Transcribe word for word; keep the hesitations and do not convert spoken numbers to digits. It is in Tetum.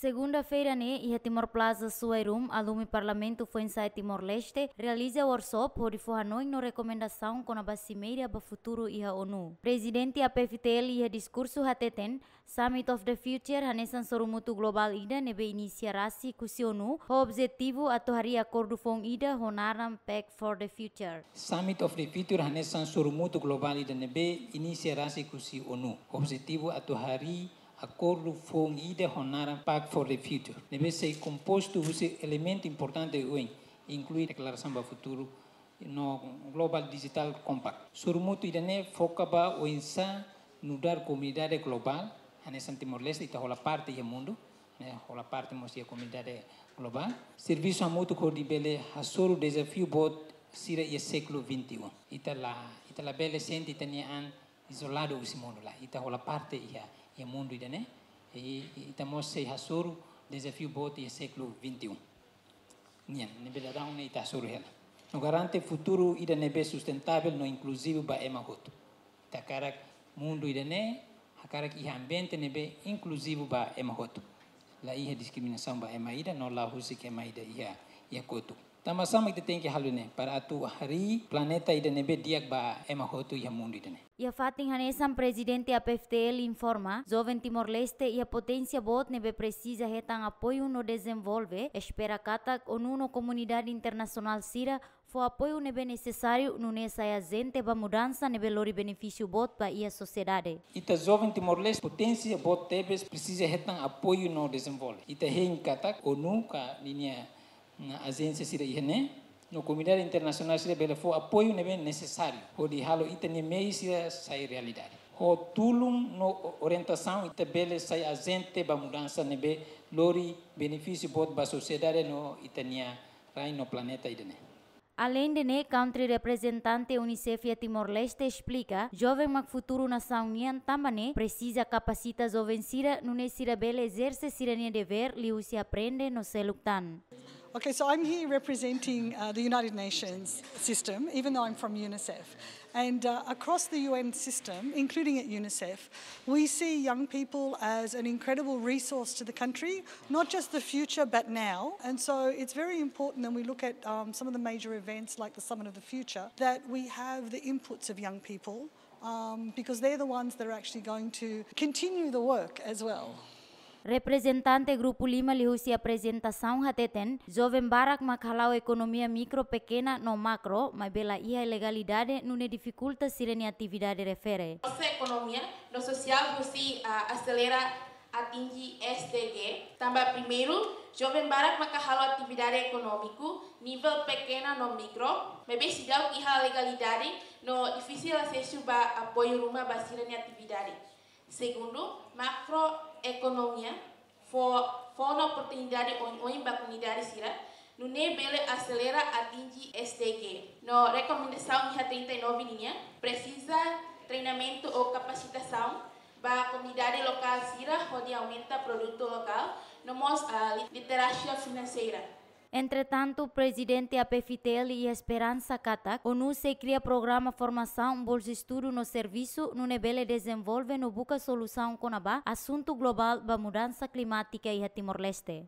Segunda-feira ne'e, iha Timor Plaza Suai Room, alumi Parlamentu Foinsa'e Timor-Leste realiza workshop hodi fó hanoin no rekomendasaun kona-ba simeira ba futuru iha ONU. Prezidente A P F T L iha diskursu hateten, Summit of the Future hanesan sorumutu globál ida ne'ebé inisia rasik husi ONU, ho objetivu atu harii akordu foun ida ho naran Pact for the Future. Summit of the Future hanesan sorumutu globál ida ne'ebé inisia rasik husi ONU, objetivu atu harii akordu foun ida ho naran Pact for the Future, ne'ebé sei kompostu husi elementu importante oin, inklui deklarasaun ba futuru no Global Digital Compact. Sorumutu ida-ne'e foka ba oinsá nu'udar komunidade globál, hanesan Timor-Leste, ita hola parte iha mundu, ne'e, hola parte mós iha komunidade globál. Servisu hamutuk hodi bele hasoru dezafiu boot sira iha século vinte e um. Ita la, ita labele sente ita-nia an izoladu husi mundu, lae. Ita hola parte iha, iha mundu ida-ne'e. I, i ita mós sei hasoru dezafiu boot iha século vinte e um nian, ne'ebé daudaun ne'e ita hasoru hela. No garante futuru ida ne'ebé sustentável no inkluzivu ba ema hotu. Ita hakarak mundu ida-ne'e, hakarak iha ambiente ne'ebé inkluzivu ba ema hotu. La iha diskriminasaun ba ema ida, no la husik ema ida iha, iha kotuk. Tanba sá mak ita tenke halo ne'e, para atu harii planeta ida ne'ebé di'ak ba ema hotu iha mundu ida-ne'e. Iha fatin hanesan, Prezidente A P F T L informa, joven Timor-Leste iha poténsia boot ne'ebé presiza hetan apoiu no dezenvolve, espera katak ONU no komunidade internasionál sira fó apoiu ne'ebé nesesáriu, nune'e sai ajente ba mudansa ne'ebé lori benefísiu boot ba iha sosiedade. Ita joven Timor-Leste poténsia boot tebes, presiza hetan apoiu no dezenvolve. Ita hein katak ONU ka ninia, na, ajénsia sira iha ne'e, no komunidade internasionál sira bele fó apoiu ne'ebé nesesáriu hodi halo ita-nia mehi sira sai realidade. Ho tulun no o-, orientasaun ita bele sai ajente ba mudansa ne'ebé lori benefísiu boot ba sosiedade no ita-nia rai no planeta ida-ne'e. Aleinde ne'e, country reprezentante UNICEF iha Timor-Leste esplika, joven mak futuru nasaun nian, tanba ne'e presiza kapasita joven sira, nune'e sira bele ezerse sira-nia devér liuhusi aprende no seluk tan. Okay, so I'm here representing, uh, the United Nations system, even though I'm from UNICEF. And, uh, across the U N system, including at UNICEF, we see young people as an incredible resource to the country, not just the future, but now. And so it's very important when we look at, um, some of the major events like the Summit of the Future, that we have the inputs of young people, um, because they're the ones that are actually going to continue the work as well. Reprezentante Grupu Lima liuhusi aprezentasaun hateten, joven barak mak hala'o ekonomia mikro, pekena no makro, maibé la iha legalidade, nune'e difikulta sira-nia atividade refere. Nossa economia no social husi, ah, aselera atinji S D G, tanba primeiru, joven barak maka halo atividade ekonómiku nivel pekena no mikro, maibé seidauk iha legalidade no difisil asesu ba apoiu ruma ba sira-nia atividade. Segundu, makroekonomia fó, fó ona oportunidade oioin ba komunidade sira, nune'e bele aselera atinji S D G. No rekomendasaun iha trinta e nove nian, presiza treinamentu ou kapasitasaun ba komunidade lokál sira hodi aumenta produtu lokál, no mós, ah, li-, literasia finanseira. Entretantu, Prezidente A P F T L iha esperansa katak ONU sei kria programa formasaun, bolsa estudu no servisu, nune'e bele dezenvolve no buka solusaun kona-ba asuntu globál ba mudansa klimátika iha Timor-Leste.